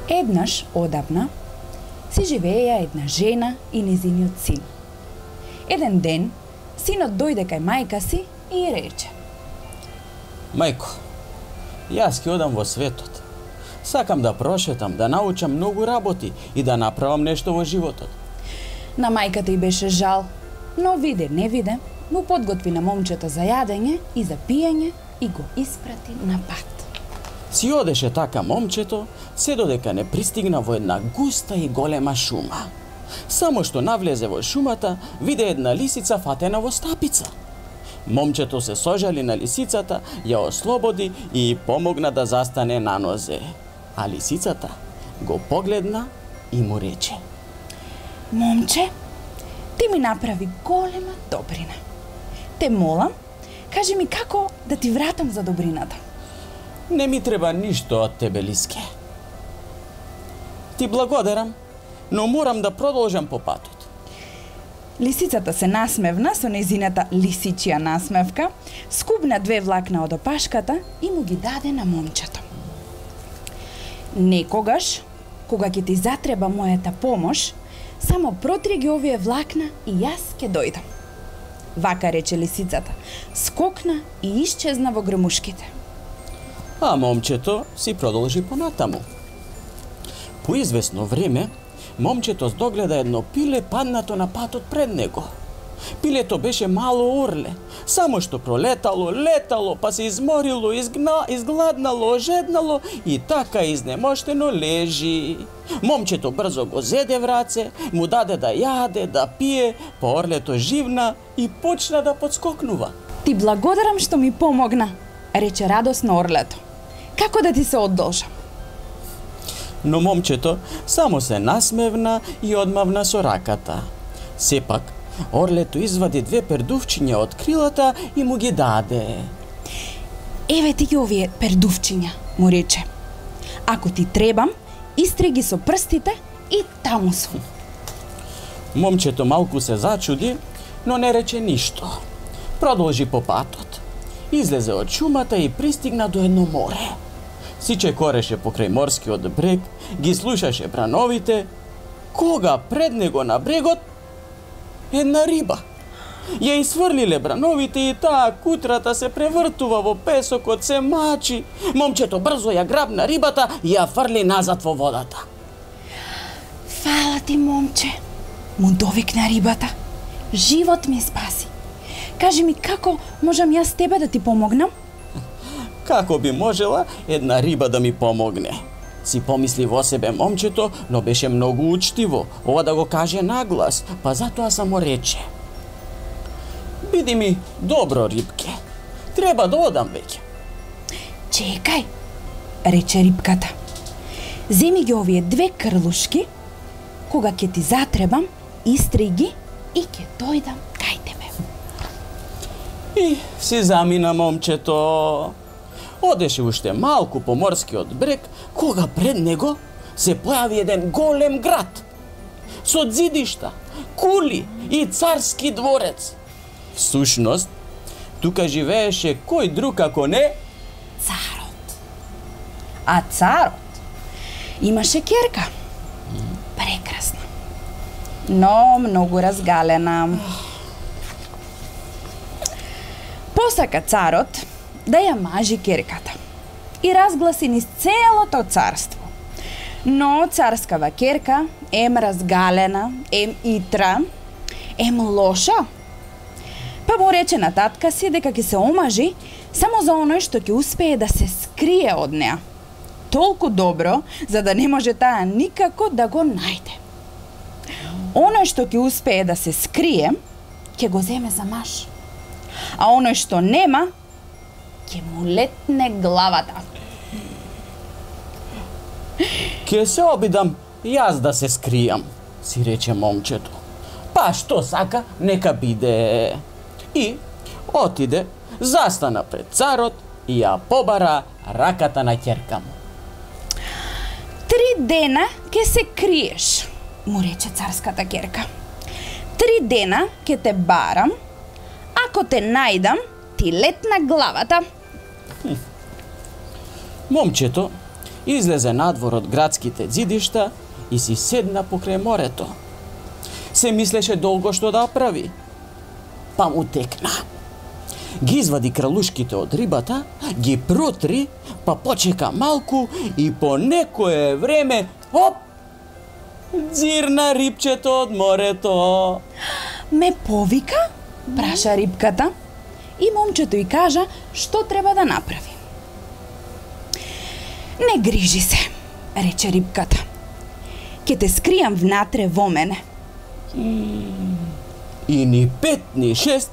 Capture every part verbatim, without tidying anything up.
Еднаш одавна си живееја една жена и незиниот син. Еден ден, синот дојде кај мајка си и ја рече: Мајко, јас ќе одам во светот. Сакам да прошетам, да научам многу работи и да направам нешто во животот. На мајката й беше жал, но виде не виде, му подготви на момчето за јадење и за пиење и го испрати на пат. Си одеше така момчето, се додека не пристигна во една густа и голема шума. Само што навлезе во шумата, виде една лисица фатена во стапица. Момчето се сожали на лисицата, ја ослободи и помогна да застане на нозе. А лисицата го погледна и му рече: Момче, ти ми направи голема добрина. Те молам, кажи ми како да ти вратам за добрината. Не ми треба ништо од тебе, лиске. Ти благодарам, но морам да продолжам по патот. Лисицата се насмевна со незината лисичија насмевка, скубна две влакна од опашката и му ги даде на момчето. Некогаш, кога ќе ти затреба мојата помош, само протри ги овие влакна и јас ќе дојдам. Вака рече лисицата, скокна и исчезна во грмушките. А момчето си продолжи понатаму. По извесно време, момчето здогледа едно пиле паднато на патот пред него. Пилето беше мало орле, само што пролетало, летало, па се изморило, изгна, изгладнало, ожеднало и така изнемоштено лежи. Момчето брзо го зеде в раце, му даде да јаде, да пие, па орлето живна и почна да подскокнува. Ти благодарам што ми помогна, рече радосно орлето. Како да ти се одолжам? Но момчето само се насмевна и одмавна со раката. Сепак, орлето извади две пердувчиња од крилата и му ги даде. Еве ти ги овие пердувчиња, му рече. Ако ти требам, истри ги со прстите и таму сум. Момчето малку се зачуди, но не рече ништо. Продолжи по патот. Излезе од шумата и пристигна до едно море. Сиче кореше покрај морскиот брег, ги слушаше брановите, кога пред него на брегот една риба. Ја изфрлиле брановите и таа кутрата се превртува во песокот, се мачи. Момчето брзо ја грабна рибата и ја фрли назад во водата. Фала ти, момче, му довикна рибата. Живот ми спаси. Кажи ми како можам јас тебе да ти помогнам? Како би можела една риба да ми помогне? Си помисли во себе момчето, но беше многу учтиво, ова да го каже наглас, па затоа само рече: Биди ми добро, рибке. Треба да одам веќе. Чекај, рече рибката. Земи ги овие две крлушки, кога ќе ти затребам, истри ги и ќе дојдам кај тебе. И си замина момчето. Одеше уште малку по морскиот брег, кога пред него се појави еден голем град. Со ѕидишта, кули и царски дворец. Всушност, тука живееше кој друг ако не Царот. А царот имаше ќерка. Прекрасна. Но многу разгалена. Посака царот да ја мажи ќерката и разгласи низ целото царство. Но царскава ќерка, ем разгалена, ем итра, ем лоша, па му рече на татка си дека ќе се омажи само за оној што ќе успее да се скрие од неа. Толку добро, за да не може таа никако да го најде. Оној што ќе успее да се скрие, ќе го земе за маж. А оној што нема, ќе му летне главата. Ке се обидам јас да се скријам, си рече момчето. Па што сака, нека биде. И отиде, застана пред царот и ја побара раката на ќерка му. Три дена ќе се криеш, му рече царската ќерка. Три дена ќе те барам, ако те најдам, ти летна главата. Момчето излезе надвор од градските ѕидишта и си седна покрај морето. Се мислеше долго што да прави. Па му текна. Ги извади кралушките од рибата, ги протри, па почека малку и по некое време, оп, дзирна рибчето од морето. Ме повика? Праша рибката. И момчето ѝ кажа што треба да направи. Не грижи се, рече рибката. Ке те скријам внатре во мене. И ни пет, ни шест,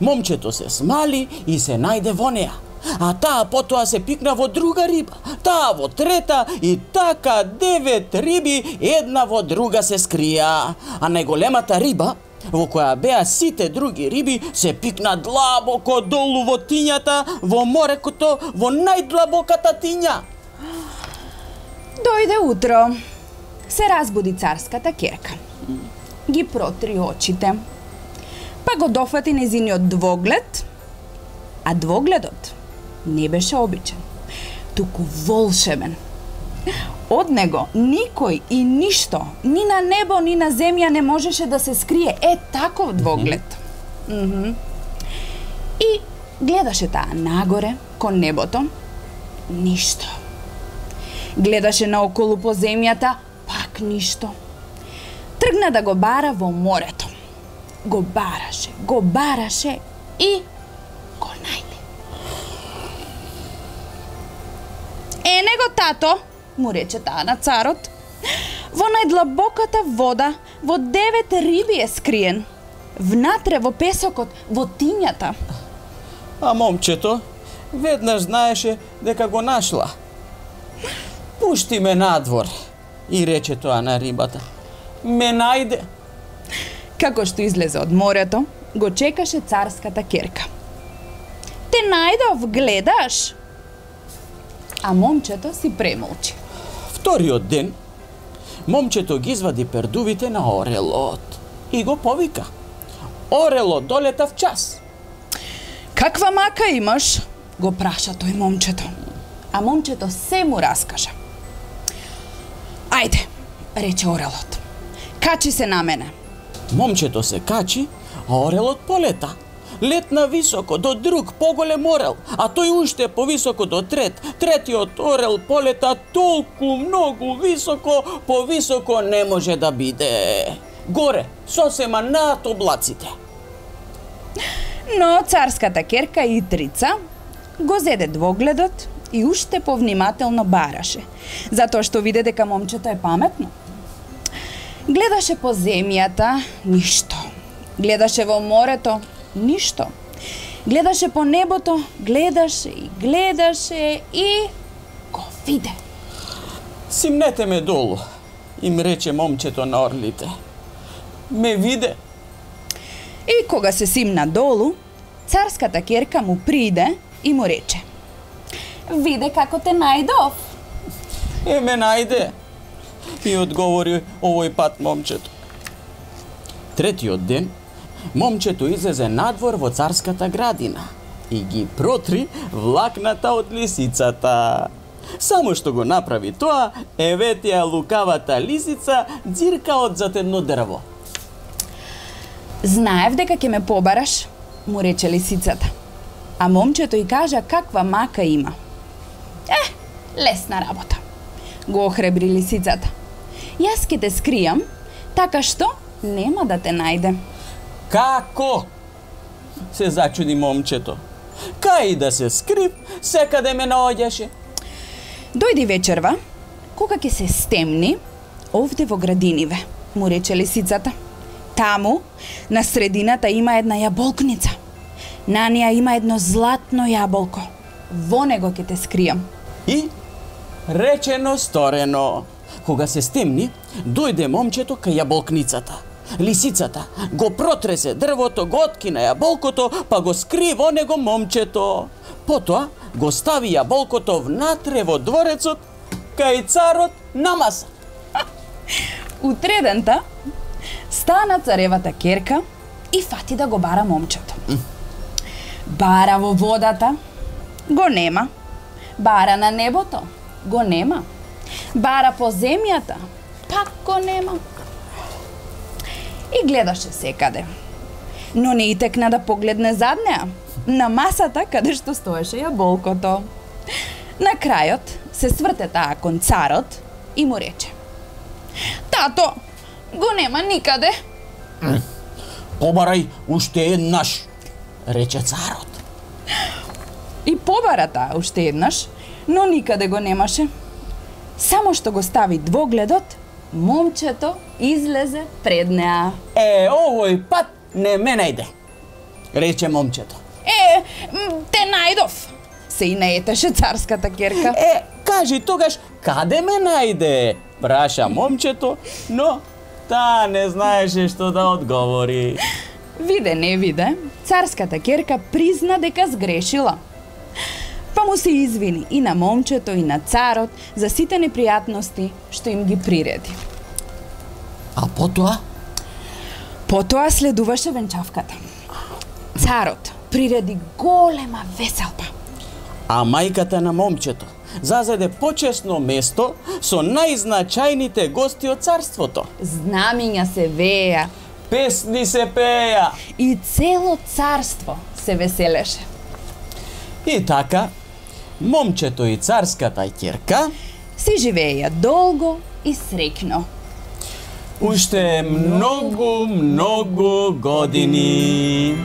момчето се смали и се најде во неа. А таа потоа се пикна во друга риба, таа во трета и така девет риби една во друга се скрија. А најголемата риба, во која беа сите други риби, се пикна длабоко долу во тињата, во морекото, во најдлабоката тиња. Дојде утро. Се разбуди царската керка. Ги протри очите. Па го дофати незиниот двоглед, а двогледот не беше обичен, туку волшебен. Од него никој и ништо, ни на небо, ни на земја не можеше да се скрие. Е, таков двоглед. Mm-hmm. И гледаше таа нагоре, кон небото, ништо. Гледаше наоколу по земјата, пак ништо. Тргна да го бара во морето. Го бараше, го бараше и го најде. Е, него тато, му рече таа на царот, во најдлабоката вода, во девет риби е скриен. Внатре во песокот, во тињата. А момчето веднаш знаеше дека го нашла. Пушти ме надвор, и рече тоа на рибата. Ме најде. Како што излезе од морето, го чекаше царската керка. Те најдов, гледаш? А момчето си премолчи. Вториот ден, момчето ги извади пердувите на орелот и го повика. Орелот долета в час. Каква мака имаш? Го праша тој момчето. А момчето се му раскажа. Ајде, рече орелот. Качи се на мене. Момчето се качи, а орелот полета. Летна високо до друг поголем орел, а тој уште повисоко до трет. Третиот орел полета толку многу високо, повисоко не може да биде. Горе, сосема над облаците. Но царската керка и трица го зеде двогледот и уште повнимателно бараше, затоа што виде дека момчето е паметно. Гледаше по земјата, ништо. Гледаше во морето, ништо. Гледаше по небото, гледаше и гледаше и го виде. Симнете ме долу, им рече момчето на орлите. Ме виде. И кога се симна долу, царската керка му приде и му рече: Виде како те најдов. Е, ме најде. И одговори овој пат момчето. Третиот ден, момчето излезе надвор во царската градина и ги протри влакната од лисицата. Само што го направи тоа, еветија лукавата лисица ѕирка од зад едно дрво. Знаев дека ќе ме побараш, му рече лисицата. А момчето ѝ кажа каква мака има. Е, лесна работа, го охребри лисицата. Јас ќе те скријам, така што нема да те најде. Како? Се зачуди момчето. Кај да се скрив, секаде ме наоѓаше. Дојди вечерва, кога ќе се стемни, овде во градиниве, му рече лисицата. Таму, на средината има една јаболкница. На неа има едно златно јаболко. Во него ќе те скријам. И речено сторено. Кога се стемни, дојде момчето кај јаболкницата. Лисицата го протресе дрвото, го откина јаболкото, па го скри во него момчето. Потоа го стави јаболкото внатре во дворецот, кај царот на маса. Утредента стана царевата керка и фати да го бара момчето. Бара во водата, го нема. Бара на небото, го нема. Бара по земјата, пак го нема. И гледаше секаде. Но не итекна да погледне зад неа, на масата каде што стоеше јаболкото. На крајот се сврте таа кон царот и му рече: Тато, го нема никаде. Побарај уште еднаш, рече царот. И побара таа уште еднаш, но никаде го немаше. Само што го стави двогледот, момчето излезе пред неа. Е, овој пат не ме најде, рече момчето. Е, те најдов, се и наетеше царската керка. Е, кажи тогаш, каде ме најде? Праша момчето, но таа не знаеше што да одговори. Виде не виде, царската керка призна дека сгрешила. Па му се извини и на момчето и на царот за сите непријатности што им ги приреди. А потоа? Потоа следуваше венчавката. Царот приреди голема веселба. А мајката на момчето зазеде почесно место со најзначајните гости од царството. Знамиња се вееа Песни се пеја. и цело царство се веселеше. И така, момчето и царската ќерка Си живееја долго и среќно. уште многу, многу години.